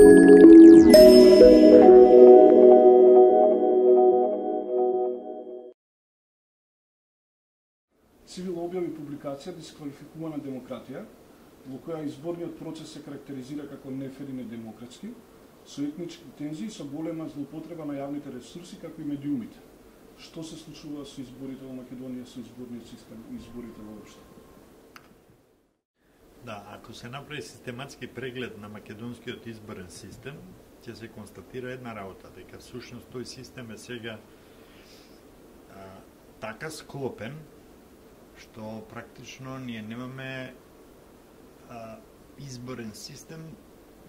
Цивил објави публикација Дисквалификувана демократија, во која изборниот процес се карактеризира како нефер и недемократски, со етнички тензии, со голема злоупотреба на јавните ресурси, како и медиумите. Што се случува со изборите во Македонија, со изборниот систем и изборите воопшто? Да, ако се направи систематски преглед на македонскиот изборен систем, ќе се констатира една работа, дека всушност тој систем е сега така склопен, што практично ние немаме изборен систем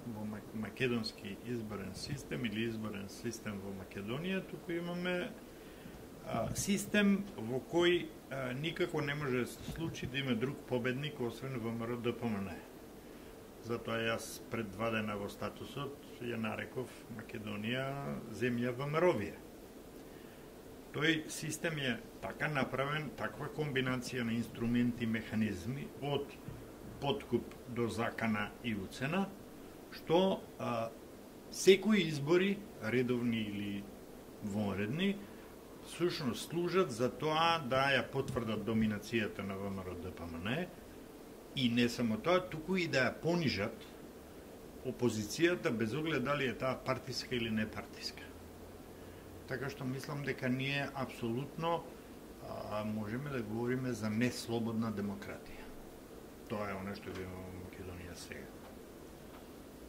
во македонски изборен систем или изборен систем во Македонија, туку имаме систем во кој никако не може да се случи да има друг победник освен ВМРО ДПМН. Затоа јас пред 2 дена во статусот ја нареков Македонија земја ВМРО-вија. Тој систем е така направен, таква комбинација на инструменти и механизми од подкуп до закана и уцена, што секои избори, редовни или вонредни, всушност служат за тоа да ја потврдат доминацијата на ВМРО ДПМН и не само тоа, туку и да ја понижат опозицијата без оглед дали е таа партиска или не партиска. Така што мислам дека ние апсолутно можеме да говориме за неслободна демократија. Тоа е оно што го имаме во Македонија сега.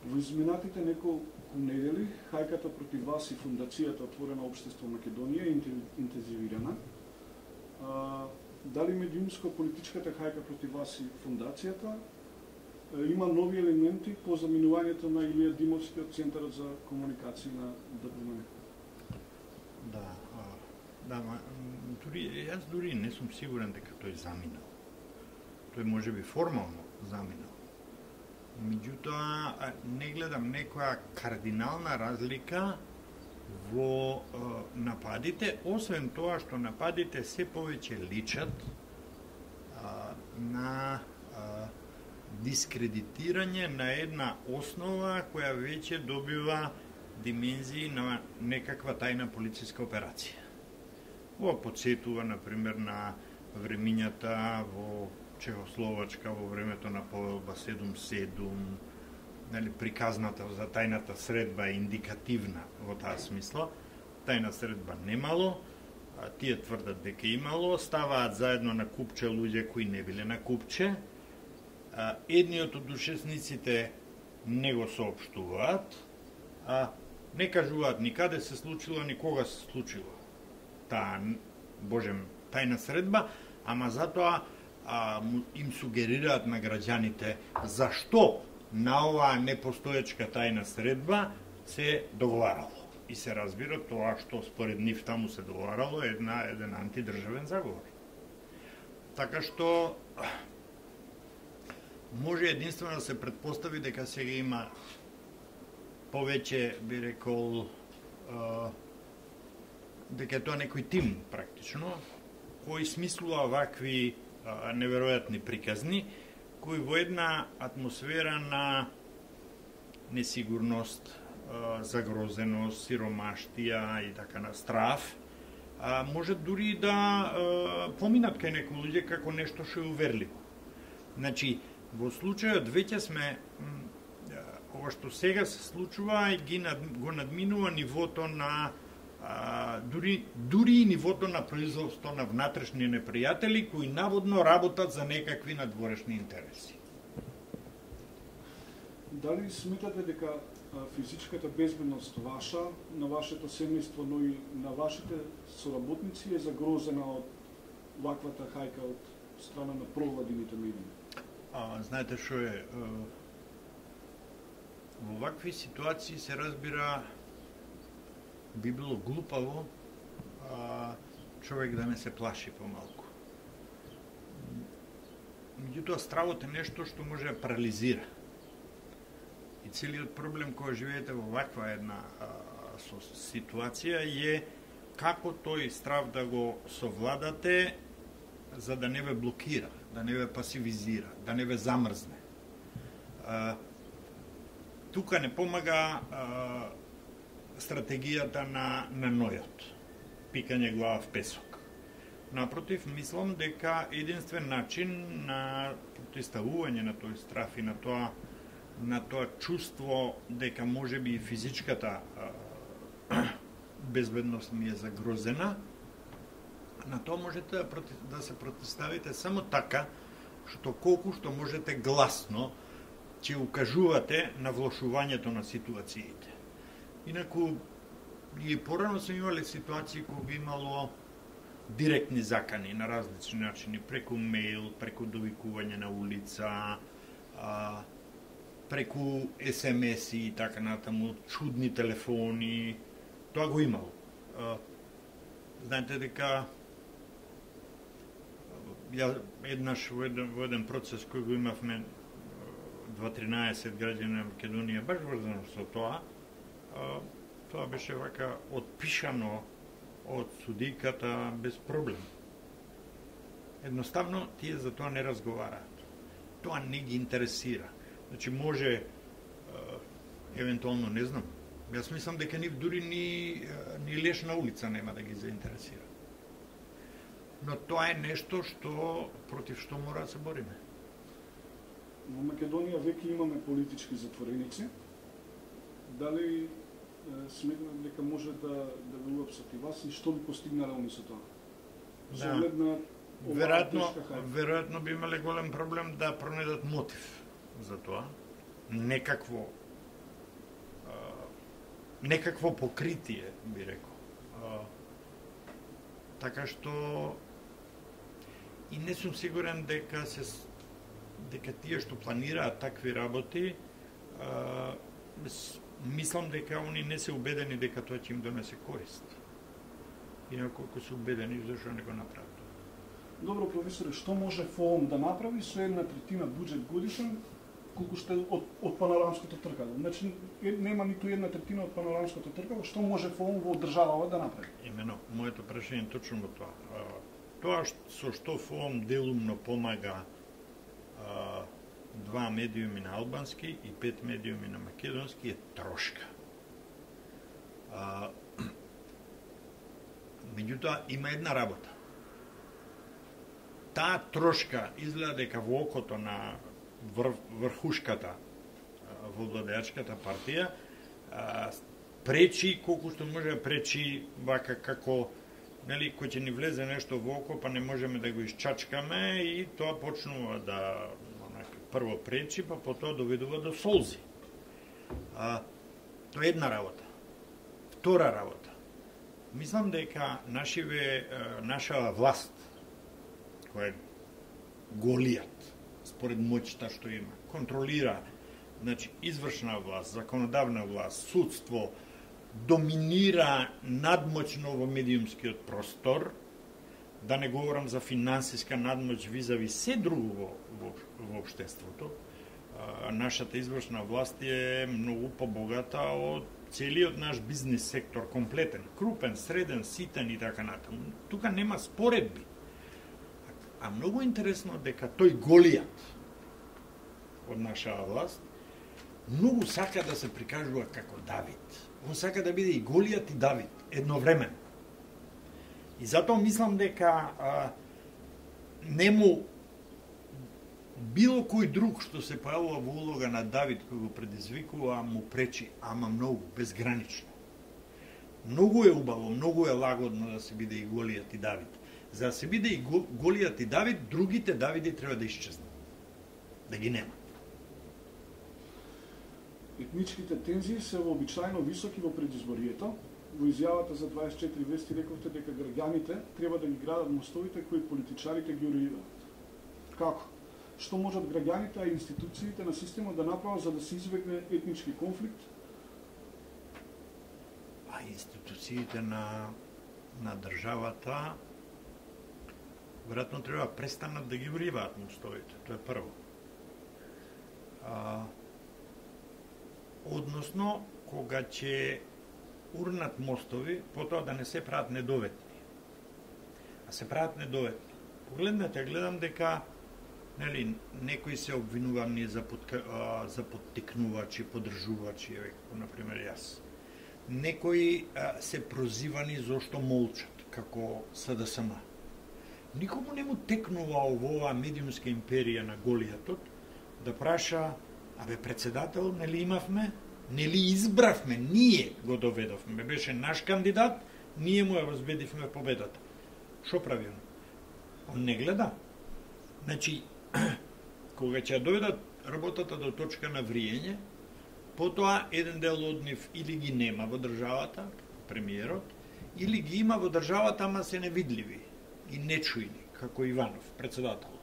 Во изминатите неколку недели хајката против вас и фундацијата Отворена општество Македонија е интензивирана. Дали медиумско-политичката хајка против вас и фундацијата има нови елементи по заминувањето на Илија Димовски од Центарот за комуникација на ДПМН? Јас дури не сум сигурен дека тој заминал. Тој може би формално заминал. Меѓутоа, не гледам некоја кардинална разлика во нападите, освен тоа што нападите се повеќе личат на дискредитирање на една основа која веќе добива димензии на некаква тајна полициска операција. Ова подсетува, например, на времињата во Чехословачка во времето на Повелба 7-7, приказната за тајната средба е индикативна во таа смисла. Тајна средба немало, тие тврдат дека имало, ставаат заедно на купче луѓе кои не биле на купче, едниот од учесниците не го соопштуваат, не кажуваат никаде се случило, никога се случило таа, божем, тајна средба, ама затоа им сугерираат на граѓаните зашто на оваа непостоечка тајна средба се договарало. И се разбира тоа што според нив таму се договарало е еден антидржавен заговор. Така што може единствено да се претпостави дека сега има повеќе, би рекол, дека е тоа некој тим, практично, кој смислува вакви неверојатни приказни, кои во една атмосфера на несигурност, загрозеност, сиромаштија и така на страв, може дури да поминат кај некои луѓе како нешто што е уверливо. Значи, во случајот веќе сме ова што сега се случува и го надминува нивото на дури и нивото на производство на внатрешни непријатели кои наводно работат за некакви надворешни интереси. Дали сметате дека физичката безбедност ваша, на вашето семејство, но и на вашите соработници е загрозена од ваквата хајка од страна на провладините медии? Знаете што е? Во вакви ситуации се разбира би било глупаво човек да не се плаши помалку. Меѓутоа, стравот е нешто што може да парализира. И целиот проблем кој живеете во ваква една ситуација е како тој страв да го совладате за да не ве блокира, да не ве пасивизира, да не ве замрзне. тука не помага стратегијата на нојот, пикање глава в песок. Напротив, мислам дека единствен начин на протиставување на тој страф и на тоа чувство дека можеби и физичката безбедност ми е загрозена, на тоа можете да се протиставите само така, што колку што можете гласно ќе укажувате на влошувањето на ситуациите. Инаку, и порано сме имали ситуации кога имало директни закани на различни начини, преку мејл, преку довикување на улица, преку SMS-и и така натаму, чудни телефони, тоа го имало. Знаете дека ја еднаш во еден процес кој го имавме 2-13 граѓани на Македонија, баш врзано со тоа, тоа беше вака отпишано од судиката без проблем. Едноставно, тие за тоа не разговараат. Тоа не ги интересира. Значи, може, евентуално, не знам, јас мислам дека нив дури ни леш на улица нема да ги заинтересира. Но тоа е нешто против што мора да се бориме. Во Македонија веќе имаме политички затвореници. Дали сметнат дека може да ви уапсат и вас и што би постигнале они со тоа? Да. Веројатно би имале голем проблем да пронедат мотив за тоа. Некакво покритие, би рекол. Така што и не сум сигурен дека тие што планираат такви работи, мислам дека они не се убедени дека тоа ќе им донесе корист. Инаку ако се убедени, зашто не го направат? Добро, професоре, што може ФООМ да направи со 1/3 буџет годишен, колку што од панорамското тркало? Значи, нема ниту 1/3 од панорамското тркало, што може ФООМ во државава да направи? Имено, моето прашање е точно во тоа. Тоа со што ФООМ делумно помага 2 медиуми на албански и 5 медиуми на македонски е трошка. Меѓутоа, има една работа. Таа трошка изгледа дека во окото на врхушката во владеачката партија пречи колку што може да пречи вака како нели кој ќе ни влезе нешто во око па не можеме да го исчачкаме и тоа почнува да прво пречи па потоа доведува до солзи. Тоа е една работа. Втора работа. Мислам дека наша власт која е голијат според моќта што има, контролира, значи извршна власт, законодавна власт, судство, доминира надмоќно во медиумскиот простор, да не говорам за финансиска надмоќ визави се друго во општеството. Нашата извршна власт е многу побогата од целиот наш бизнис сектор, комплетен, крупен, среден, ситен и така натаму. Тука нема споредби. А многу интересно дека тој голијат од нашава власт многу сака да се прикажува како Давид. Он сака да биде и голијат и Давид едновремено. И затоа мислам дека нему било кој друг што се појавува во улога на Давид кој го предизвикува му пречи, ама многу, безгранично. Многу е убаво, многу е лагодно да се биде и голијат и Давид. За да се биде и голијат и Давид, другите Давиди треба да исчезнат. Да ги нема. Етничките тензии се вообичаено високи во предизборието. Во изјавата за 24 вести рековте дека граѓаните треба да ги градат мостовите кои политичарите ги уредуваат. Како? Што можат граѓаните, а институциите на системот да направат за да се избегне етнички конфликт? А институциите на државата веројатно треба престанат да ги уриваат мостовите, тоа е прво. Односно, кога ќе урнат мостови, потоа да не се прават недоветни. А се прават недоветни. Погледнете, гледам дека Нели, некои се обвинувани за поттикнувачи, поддржувачи, како например јас. Некои се прозивани зошто молчат, како СДСМ. Никому не му текнува во оваа медиумска империја на Голијатот да праша, председател, нели имавме, нели избравме, ние го доведовме, беше наш кандидат, ние му ја возбедивме победата. Шо прави он? Он не гледа. Значи, кога ќе ја доведат работата до точка на вриење, потоа еден дел од нив или ги нема во државата, премиерот, или ги има во државата, ама се невидливи и нечујни, како Иванов, председателот.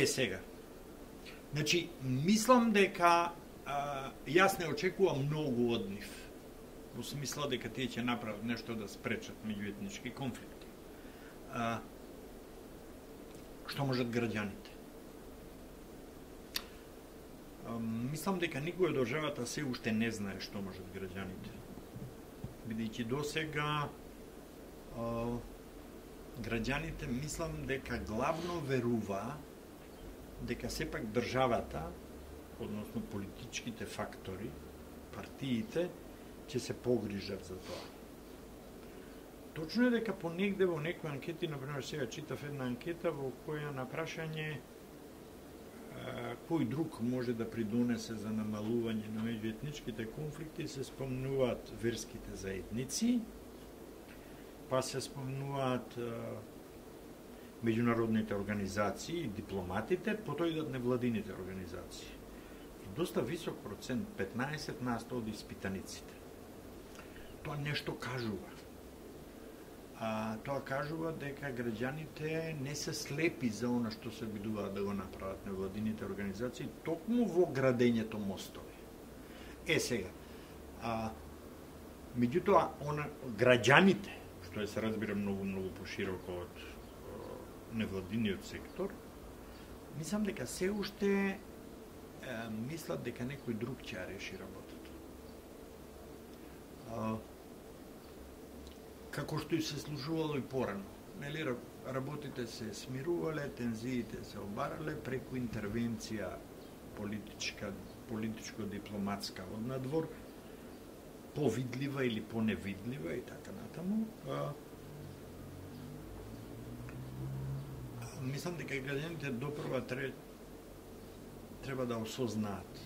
Сега. Значи, мислам дека јас не очекувам многу од нив, во смисла дека тие ќе направат нешто да спречат меѓуетнички конфликти. Што можат граѓаните? Мислам дека никој од државата се уште не знае што можат граѓаните. Бидејќи досега граѓаните мислам дека главно верува дека сепак државата, односно политичките фактори, партиите, ќе се погрижат за тоа. Точно е дека понегде во некои анкети, например сега читав една анкета во која на прашање кој друг може да придонесе за намалување на меѓуетничките конфликти, се спомнуваат верските заедници, па се спомнуваат меѓународните организации, дипломатите, потоа идат невладините организации. Доста висок процент, 15% од испитаниците. Тоа нешто кажува. Тоа кажува дека граѓаните не се слепи за она што се обидуваат да го направат невладините организации, токму во градењето мостови. Сега, меѓутоа, граѓаните, што се разбира многу пошироко од невладиниот сектор, мислам дека се уште мислат дека некој друг ќе ја реши работата. Како што и се случувало и порано. Нели, работите се смирувале, тензиите се обарале преку интервенција политичко-дипломатска од надвор, повидлива или поневидлива и така натаму. Мислам дека граѓаните допрва треба да осознаат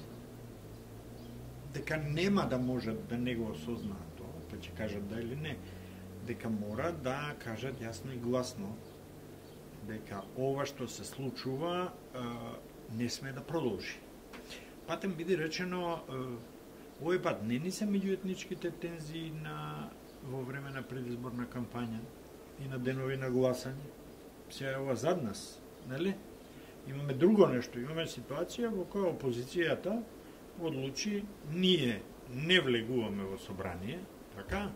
дека нема да можат да не го осознаат тоа, па ќе кажат да или не, дека мора да кажат јасно и гласно дека ова што се случува не сме да продолжи. Патем биде речено, овој пат не ни се меѓуетничките тензии во време на предизборна кампања и на денови на гласање. Сега е ова зад нас, нели? Имаме друго нешто, имаме ситуација во која опозицијата одлучи ние не влегуваме во собрание, така?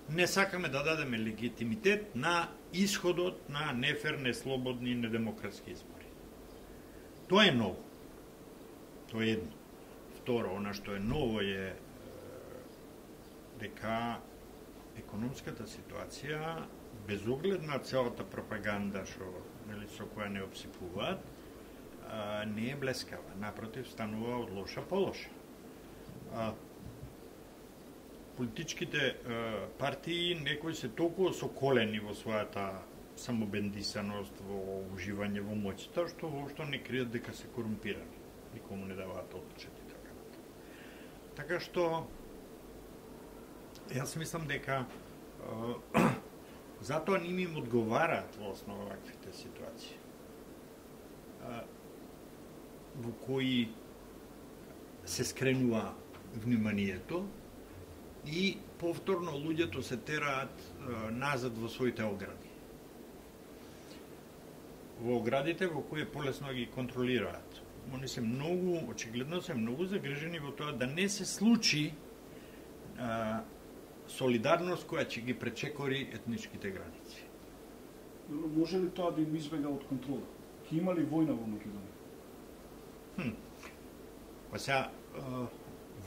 Не сакаме да дадеме легитимитет на исходот на нефер, неслободни и недемократски избори. Тоа е ново. Тоа е едно. Второ, она што е ново е дека економската ситуација, без оглед на целата пропаганда со која не обсипуваат, не е блескава. Напротив, станува од лоша по лоша. Политичките партии некои се толку соколени во својата самобендисаност, во уживање во моќта, што воопшто не кријат дека се корумпирани. Никому не даваат одлучет и така натаму. Така што јас мислам дека затоа не им одговараат во основа ваквите ситуации во кои се скренува вниманието и повторно луѓето се тераат назад во своите огради. Во оградите во кои е полесно ги контролираат. Они се многу, очигледно се многу загрижени во тоа да не се случи солидарност која ќе ги пречекори етничките граници. Може ли тоа да им избега од контрола? Ке има ли војна во Македонија? Па сега,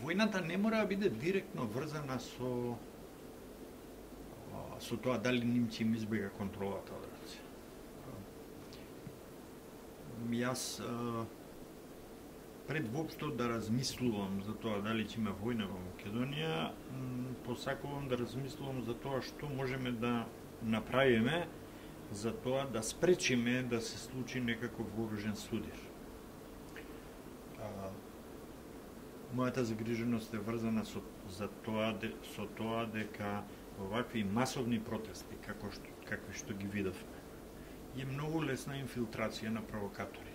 војната не мора да биде директно врзана со тоа дали ним ќе им избега контролата од раце. Јас пред воопшто да размислувам за тоа дали ќе има војна во Македонија, посакувам да размислувам за тоа што можеме да направиме за тоа да спречиме да се случи некаков вооружен судир. Мојата загриженост е врзана со тоа дека овакви масовни протести, какви што ги видовме, е многу лесна инфилтрација на провокатори.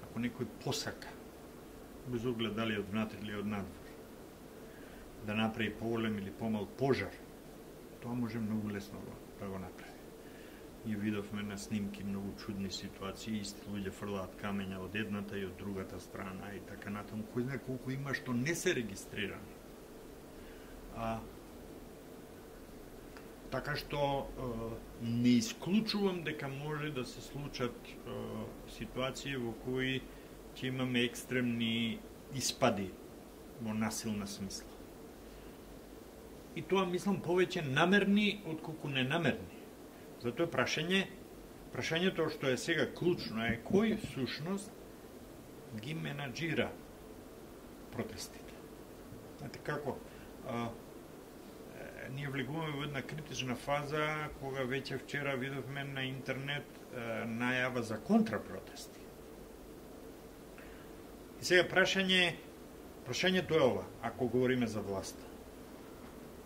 Ако некој посака, без оглед дали од внатре или од надвор, да направи поголем или помал пожар, тоа може многу лесно да го направи. И видовме на снимки многу чудни ситуации, исти луѓе фрлаат камења од едната и од другата страна и така натаму, кој знае колку има што не се регистрирани. Така што не исклучувам дека може да се случат ситуации во кои ќе имаме екстремни испади во насилна смисла. И тоа мислам повеќе намерни отколку ненамерни. Затоа прашањето што е сега клучно е кој всушност ги менаџира протестите. Знаете како? Ние влегуваме во една критична фаза кога веќе вчера видовме на интернет најава за контрапротести. И сега прашањето е ова, ако говориме за власта.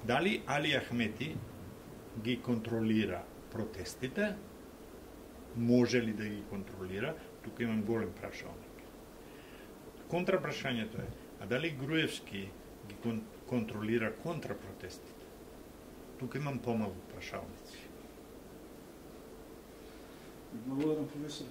Дали Али Ахмети ги контролира протестите? Може ли да ги контролира? Тука имам голем прашалник. Контрапрашањето е, а дали Груевски ги контролира контрапротестите? Тука имам помалку прашалници. Благодарам, професор.